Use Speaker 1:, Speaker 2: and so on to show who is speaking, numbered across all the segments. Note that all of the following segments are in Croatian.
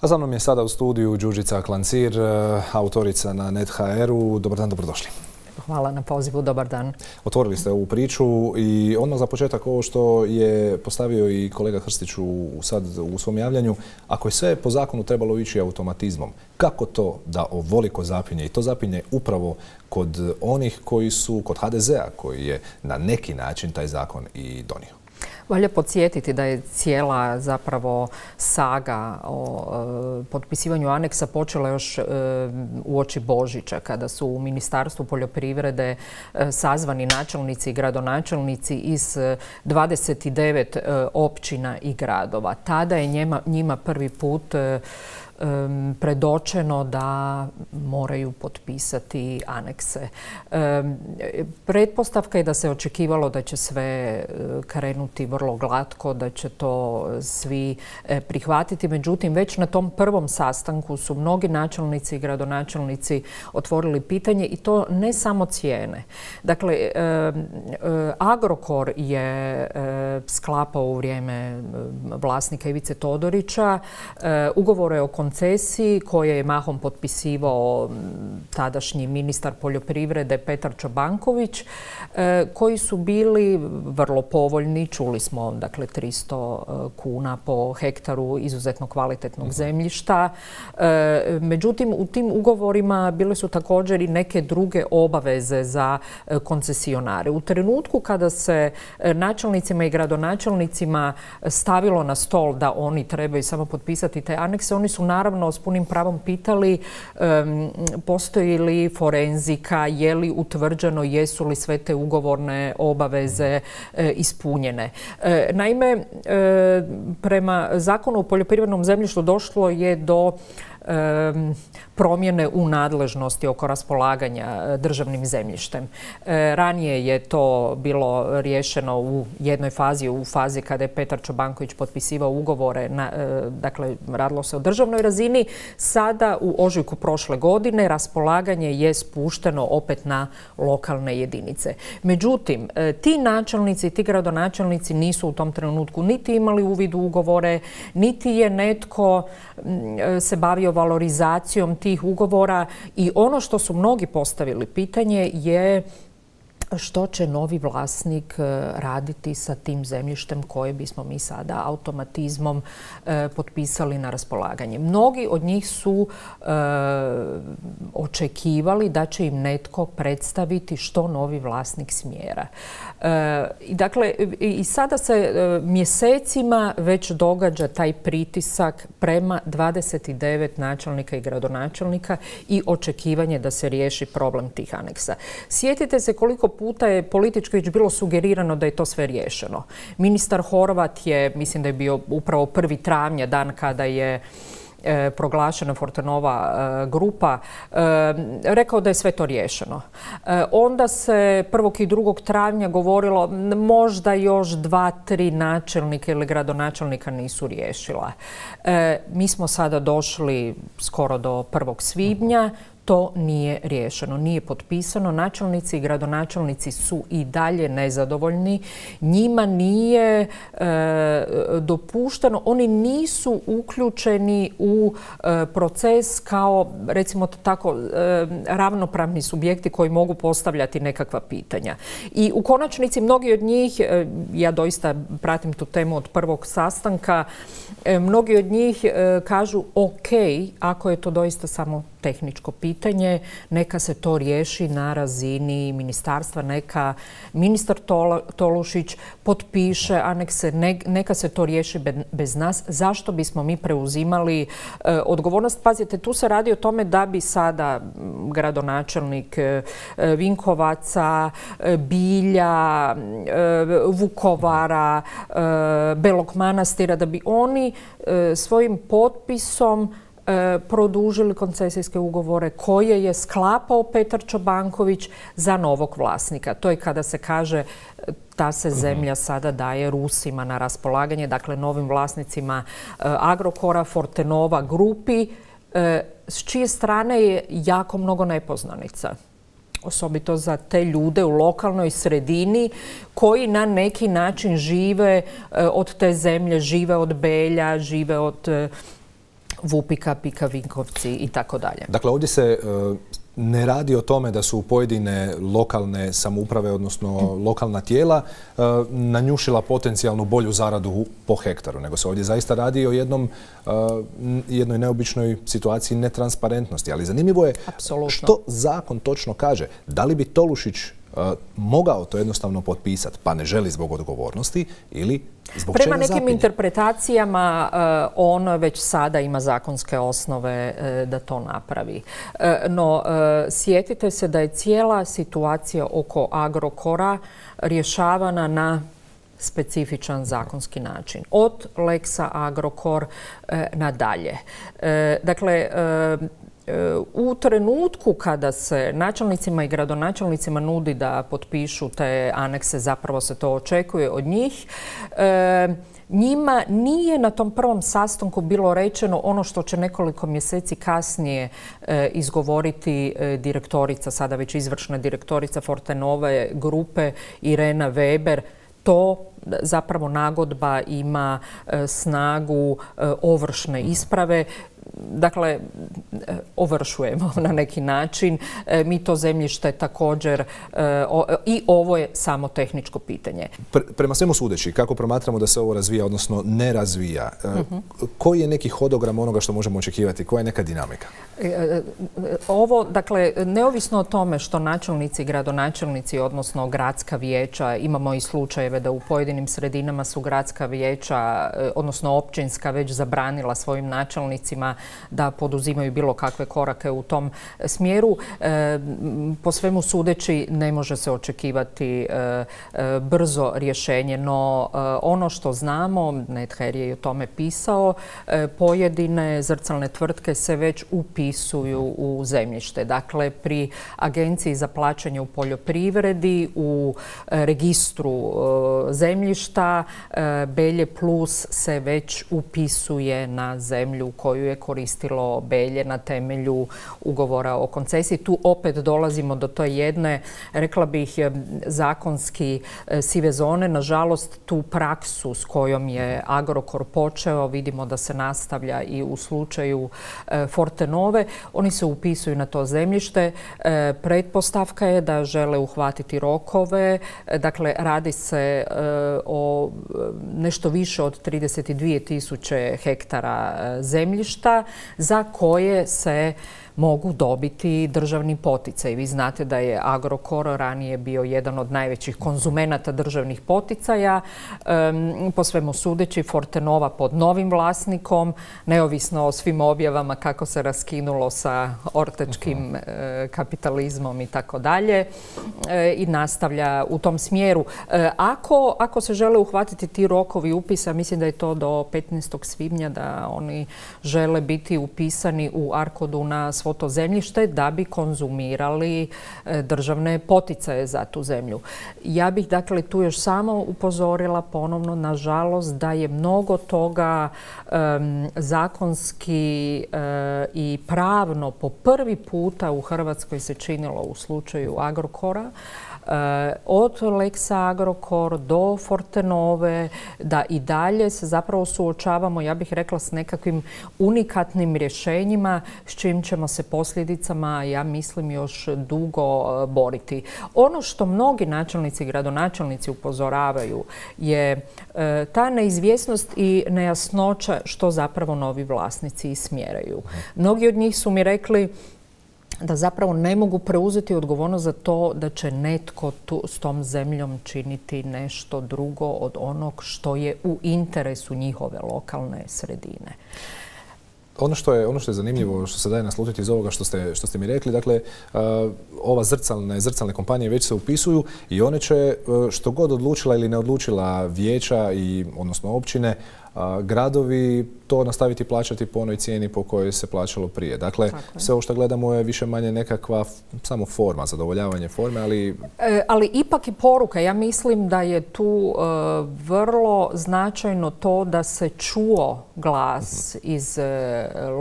Speaker 1: A za mnom je sada u studiju Đurđica Klancir, autorica na NET.hr-u. Dobar dan, dobrodošli.
Speaker 2: Hvala na pozivu, dobar dan.
Speaker 1: Otvorili ste ovu priču i odmah za početak ovo što je postavio i kolega Hrstić sad u svom javljanju. Ako je sve po zakonu trebalo ići automatizmom, kako to da ovoliko zapinje? I to zapinje upravo kod onih koji su, kod HDZ-a, koji je na neki način taj zakon i donio.
Speaker 2: Valja podsjetiti da je cijela zapravo saga o potpisivanju aneksa počela još uoči Božića, kada su u Ministarstvu poljoprivrede sazvani načelnici i gradonačelnici iz 29 općina i gradova. Tada je njima prvi put predočeno da moraju potpisati anekse. Pretpostavka je da se očekivalo da će sve krenuti vrlo glatko, da će to svi prihvatiti. Međutim, već na tom prvom sastanku su mnogi načelnici i gradonačelnici otvorili pitanje i to ne samo cijene. Dakle, Agrokor je sklapao u vrijeme vlasnika Ivice Todorića ugovore o koncesiji koje je mahom potpisivao tadašnji ministar poljoprivrede Petar Čobanković, koji su bili vrlo povoljni. Čuli smo, dakle, 300 kuna po hektaru izuzetno kvalitetnog zemljišta. Međutim, u tim ugovorima bile su također i neke druge obaveze za koncesionare. U trenutku kada se načelnicima i gradonačelnicima stavilo na stol da oni trebaju samo potpisati te anekse, oni su naravno s punim pravom pitali postoji li forenzika, je li utvrđeno, jesu li sve te ugovorne obaveze ispunjene. Naime, prema Zakonu o poljoprivrednom zemljištu došlo je do promjene u nadležnosti oko raspolaganja državnim zemljištem. Ranije je to bilo riješeno u jednoj fazi, u fazi kada je Petar Čobanković potpisivao ugovore, dakle radilo se o državnoj razini. Sada u ožujku prošle godine raspolaganje je spušteno opet na lokalne jedinice. Međutim, ti načelnici i ti gradonačelnici nisu u tom trenutku niti imali uvid u ugovore, niti je netko se bavio valorizacijom tih ugovora i ono što su mnogi postavili pitanje je što će novi vlasnik raditi sa tim zemljištem koje bismo mi sada automatizmom potpisali na raspolaganje. Mnogi od njih su očekivali da će im netko predstaviti što novi vlasnik smjera. Dakle, i sada se mjesecima već događa taj pritisak prema 29 načelnika i gradonačelnika i očekivanje da se riješi problem tih aneksa. Sjetite se koliko puta je politički već bilo sugerirano da je to sve riješeno. Ministar Horvat je, mislim da je bio upravo 1. travnja, dan kada je proglašena Fortenova grupa, rekao da je sve to riješeno. Onda se 1. i 2. travnja govorilo možda još 2-3 načelnika ili gradonačelnika nisu riješila. Mi smo sada došli skoro do 1. svibnja. To nije riješeno, nije potpisano. Načelnici i gradonačelnici su i dalje nezadovoljni. Njima nije dopušteno, oni nisu uključeni u proces kao, recimo tako, ravnopravni subjekti koji mogu postavljati nekakva pitanja. I u konačnici mnogi od njih, ja doista pratim tu temu od prvog sastanka, mnogi od njih kažu ok, ako je to doista samo tehničko pitanje, neka se to riješi na razini ministarstva, neka ministar Tolušić potpiše anekse, neka se to riješi bez nas. Zašto bismo mi preuzimali odgovornost? Pazite, tu se radi o tome da bi sada gradonačelnik Vinkovaca, Bilja, Vukovara, Belog Manastira, da bi oni svojim potpisom produžili koncesijske ugovore koje je sklapao Petar Čobanković za novog vlasnika. To je kada se kaže ta se zemlja sada daje Rusima na raspolaganje, dakle novim vlasnicima Agrokora, Fortenova grupi, s čije strane je jako mnogo nepoznanica. Osobito za te ljude u lokalnoj sredini koji na neki način žive od te zemlje, žive od Belja, žive od Vupika, Pika, Vinkovci i tako dalje.
Speaker 1: Dakle, ovdje se ne radi o tome da su pojedine lokalne samouprave, odnosno lokalna tijela, nanjušila potencijalnu bolju zaradu po hektaru, nego se ovdje zaista radi o jednoj neobičnoj situaciji netransparentnosti. Ali zanimljivo je što zakon točno kaže. Da li bi Tolušić mogao to jednostavno potpisati, pa ne želi zbog odgovornosti, ili zbog čega
Speaker 2: prema nekim
Speaker 1: zapinje?
Speaker 2: Interpretacijama on već sada ima zakonske osnove da to napravi. No, sjetite se da je cijela situacija oko Agrokora rješavana na specifičan zakonski način. Od Lexa Agrokor nadalje. Dakle, u trenutku kada se načelnicima i gradonačelnicima nudi da potpišu te anekse, zapravo se to očekuje od njih, njima nije na tom prvom sastanku bilo rečeno ono što će nekoliko mjeseci kasnije izgovoriti direktorica, sada već izvršna direktorica Fortenove grupe Irena Weber. To zapravo nagodba ima snagu ovršne isprave. Dakle, ovršujemo na neki način. Mi to zemljište također, i ovo je samo tehničko pitanje.
Speaker 1: Prema svemu sudeći, kako promatramo da se ovo razvija, odnosno ne razvija, koji je neki hodogram onoga što možemo očekivati? Koja je neka dinamika?
Speaker 2: Ovo, dakle, neovisno o tome što načelnici, gradonačelnici, odnosno gradska vijeća, imamo i slučajeve da u pojedinim sredinama su gradska vijeća, odnosno općinska, već zabranila svojim načelnicima da poduzimaju bilo kakve korake u tom smjeru. Po svemu sudeći ne može se očekivati brzo rješenje, no ono što znamo, Nether je i o tome pisao, pojedine zrcalne tvrtke se već upisuju u zemljište. Dakle, pri Agenciji za plaćanje u poljoprivredi, u registru zemljišta, Belje Plus se već upisuje na zemlju koju je koristilo Belje na temelju ugovora o koncesiji. Tu opet dolazimo do to jedne, rekla bih, zakonski sive zone. Nažalost, tu praksu s kojom je Agrokor počeo, vidimo da se nastavlja i u slučaju Fortenove. Oni se upisuju na to zemljište. Pretpostavka je da žele uhvatiti rokove. Dakle, radi se o nešto više od 32.000 hektara zemljišta za koje se mogu dobiti državni poticaj. Vi znate da je Agrokor ranije bio jedan od najvećih konzumenata državnih poticaja. Po svemu sudeći, Fortenova pod novim vlasnikom, neovisno o svim objavama kako se raskinulo sa ortačkim kapitalizmom i tako dalje, i nastavlja u tom smjeru. Ako se žele uhvatiti ti rokovi upisa, mislim da je to do 15. svibnja da oni žele biti upisani u ARKOD-u na svo to zemljište da bi konzumirali državne poticaje za tu zemlju. Ja bih dakle tu još samo upozorila ponovno, nažalost, da je mnogo toga zakonski i pravno po prvi puta u Hrvatskoj se činilo u slučaju Agrokora. Od Lexa Agrokor do Fortenove, da i dalje se zapravo suočavamo, ja bih rekla, s nekakvim unikatnim rješenjima s čim ćemo se posljedicama, ja mislim, još dugo boriti. Ono što mnogi načelnici i gradonačelnici upozoravaju je ta neizvjesnost i nejasnoća što zapravo novi vlasnici smjeraju. Mnogi od njih su mi rekli da zapravo ne mogu preuzeti odgovornost za to da će netko s tom zemljom činiti nešto drugo od onog što je u interesu njihove lokalne sredine.
Speaker 1: Ono što je zanimljivo, što se daje naslutiti iz ovoga što ste mi rekli, dakle, ova zrcalne kompanije već se upisuju i one će, što god odlučila ili ne odlučila vijeća, odnosno općine, gradovi to nastaviti plaćati po onoj cijeni po kojoj se plaćalo prije. Dakle, sve ovo što gledamo je više manje nekakva samo forma, zadovoljavanje forme, ali...
Speaker 2: Ali ipak i poruka. Ja mislim da je tu vrlo značajno to da se čuo glas iz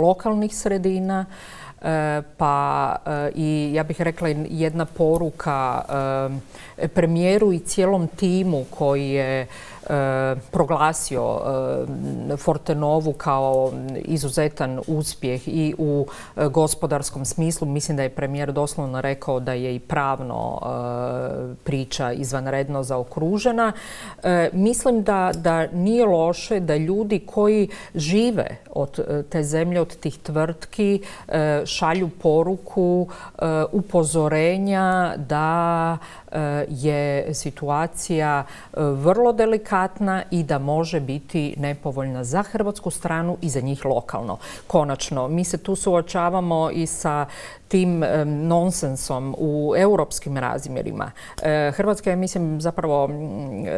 Speaker 2: lokalnih sredina, pa i ja bih rekla jedna poruka premijeru i cijelom timu koji je proglasio Fortenovu kao izuzetan uspjeh i u gospodarskom smislu. Mislim da je premijer doslovno rekao da je i pravno priča izvanredno zaokružena. Mislim da nije loše da ljudi koji žive od te zemlje, od tih tvrtki, šalju poruku upozorenja da je situacija vrlo delikatna i da može biti nepovoljna za hrvatsku stranu i za njih lokalno. Konačno, mi se tu suočavamo i sa tim nonsensom u europskim razmjerima. Hrvatska je, mislim, zapravo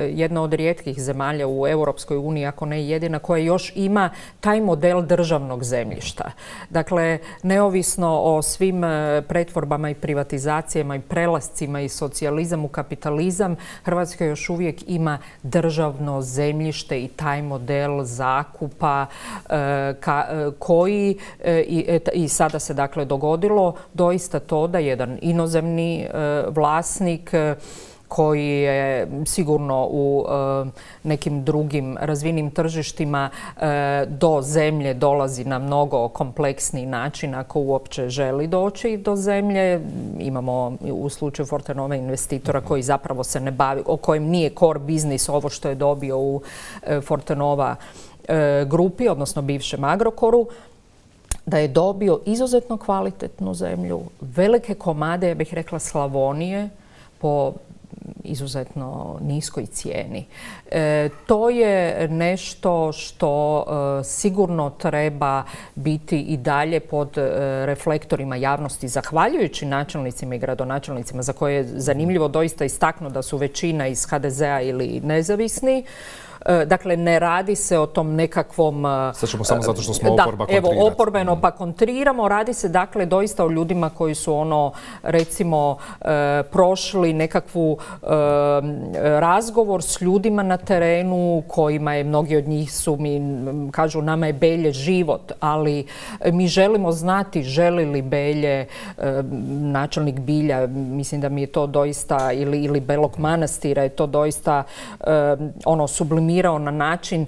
Speaker 2: jedna od rijetkih zemalja u Europskoj uniji, ako ne jedina, koja još ima taj model državnog zemljišta. Dakle, neovisno o svim pretvorbama i privatizacijama i prelascima i socijalizam u kapitalizam, Hrvatska još uvijek ima državno zemljište i taj model zakupa koji i sada se dakle dogodilo doista to da jedan inozemni vlasnik koji je sigurno u nekim drugim razvijenim tržištima do zemlje dolazi na mnogo kompleksniji način ako uopće želi doći do zemlje. Imamo u slučaju Fortenove investitora koji zapravo se ne bavi, o kojem nije core biznis ovo što je dobio u Fortenova grupi, odnosno bivšem Agrokoru, da je dobio izuzetno kvalitetnu zemlju, velike komade, ja bih rekla Slavonije, po izuzetno niskoj cijeni. To je nešto što sigurno treba biti i dalje pod reflektorima javnosti, zahvaljujući načelnicima i gradonačelnicima, za koje je zanimljivo doista istaknuti da su većina iz HDZ-a ili nezavisni. Dakle, ne radi se o tom nekakvom...
Speaker 1: Sad ćemo samo zato što smo oporba kontrirati.
Speaker 2: Evo, oporbeno pa kontriramo. Radi se dakle doista o ljudima koji su recimo, prošli nekakvu razgovor s ljudima na terenu, kojima je, mnogi od njih su mi, kažu, nama je Belje život, ali mi želimo znati želi li Belje, načelnik Bilja, mislim da mi je to doista, ili Belog Manastira je to doista sublimirano na način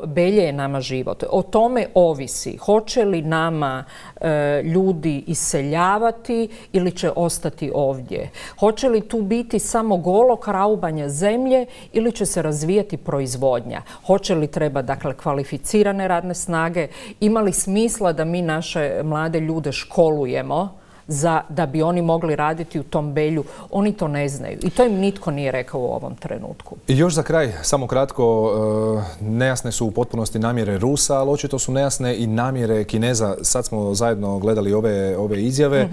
Speaker 2: Belje je nama život. O tome ovisi hoće li nama ljudi iseljavati ili će ostati ovdje. Hoće li tu biti samo golo kraubanje zemlje ili će se razvijati proizvodnja. Hoće li treba, dakle, kvalificirane radne snage, ima li smisla da mi naše mlade ljude školujemo da bi oni mogli raditi u tom Belju. Oni to ne znaju i to im nitko nije rekao u ovom trenutku.
Speaker 1: I još za kraj, samo kratko, nejasne su u potpunosti namjere Rusa, ali očito su nejasne i namjere Kineza. Sad smo zajedno gledali ove izjave.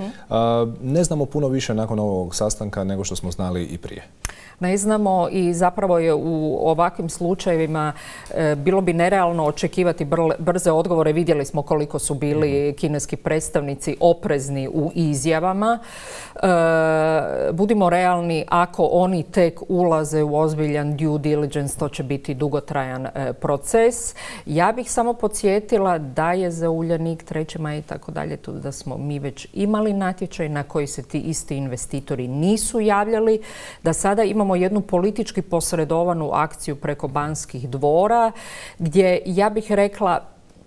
Speaker 1: Ne znamo puno više nakon ovog sastanka nego što smo znali i prije.
Speaker 2: Ne znamo i zapravo je u ovakvim slučajevima bilo bi nerealno očekivati brze odgovore. Vidjeli smo koliko su bili kineski predstavnici oprezni u izjavama. Budimo realni, ako oni tek ulaze u ozbiljan due diligence, to će biti dugotrajan proces. Ja bih samo podsjetila da je za Uljanik, 3. Maj i tako dalje, da smo mi već imali natječaj na koji se ti isti investitori nisu javljali, da sada imamo jednu politički posredovanu akciju preko Banskih dvora, gdje, ja bih rekla,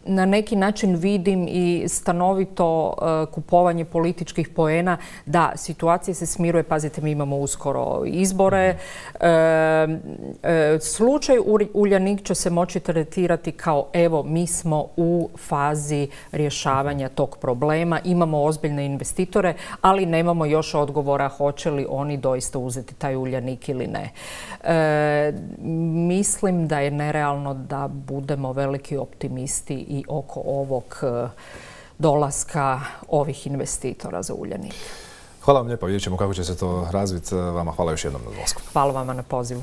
Speaker 2: na neki način vidim i stanovito kupovanje političkih poena. Da, situacija se smiruje. Pazite, mi imamo uskoro izbore. Slučaj Uljanik će se moći tretirati kao evo, mi smo u fazi rješavanja tog problema. Imamo ozbiljne investitore, ali nemamo još odgovora hoće li oni doista uzeti taj Uljanik ili ne. Mislim da je nerealno da budemo veliki optimisti i oko ovog dolaska ovih investitora za Uljanik.
Speaker 1: Hvala vam lijepo. Vidjet ćemo kako će se to razviti. Vama hvala još jednom na dolasku.
Speaker 2: Hvala vama na pozivu.